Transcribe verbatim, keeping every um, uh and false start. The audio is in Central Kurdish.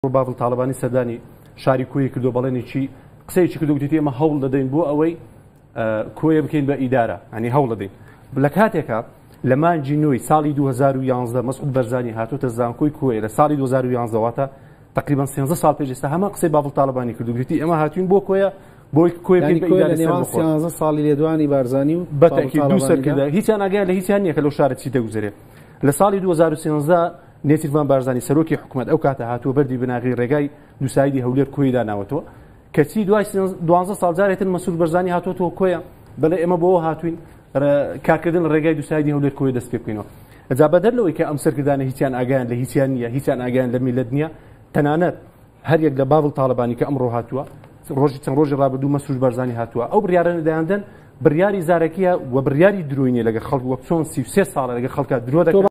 باڤڵ تاڵەبانی سەردانی شاری کۆیە کردو بەڵێنێکی قسەیەکی کردو گوتیتی ئێمە هەوڵ دەدەین بۆ ئەوەی کۆیە بکەین بە ئیدارە، ینی هەوڵ دەدەین. لە کاتێکا لە مانگی نوێی ساڵی دوو هەزار و یانزدە مەسعود بەرزانی هاتووەتە زانکۆی کۆیە لە ساڵی دوو هەزار و یانزدە، واتە تقریبا سێزدە ساڵ پێش ئێستا هەمان قسەی باڤڵ تاڵەبانی کردو گوتیتی ئێمە هاتوین بۆ کۆیە بۆی کۆیە بکەین بە ئیدارە سەربەخۆ. سێزدە ساڵی لێدوانی بارزانی و بە تەئکید دوو سەرکردە هیچیان ئاگایان لە هیچیان نییە کە لەو شارە چی دەگوزەرێ. لە ساڵی دوو هەزار و سێزدە نێچیرڤان بارزانی سەرۆکی حکوومەت ئەو کاتە هاتووە بەردی بناغی ڕێگای دووسایدی هەولێر کۆی داناوەتەوە، کەچی دوای دوازدە ساڵ جارێتر مەسعود بەرزانی هاتووەتەوە کۆیە دەڵێ ئێمە بۆ هاتوین کارکردن لە ڕێگای دووسایدی هەولێر کۆیە دەست پێ بکەینەوە. جا بەدەر لەوەی کە ئەم سەرکردانە هیچیان ئاگایان لە هیچیان نییە، هیچیان ئاگایان لە میللەت نییە، تەنانەت هەر یەک لە باڤڵ تاڵەبانی کە ئەمڕۆ هاتووە، ڕۆژی چەند ڕۆژی ڕابردوو مەسعود بەرزانی هاتووە، ئەو بڕیارانە دەیاندەن بڕیاری زارەکیە و بڕیاری درۆینیە لەگەڵ خەڵک، وەک چۆن سی و سێ ساڵە لەگەڵ خەڵکە درۆ دەکەن.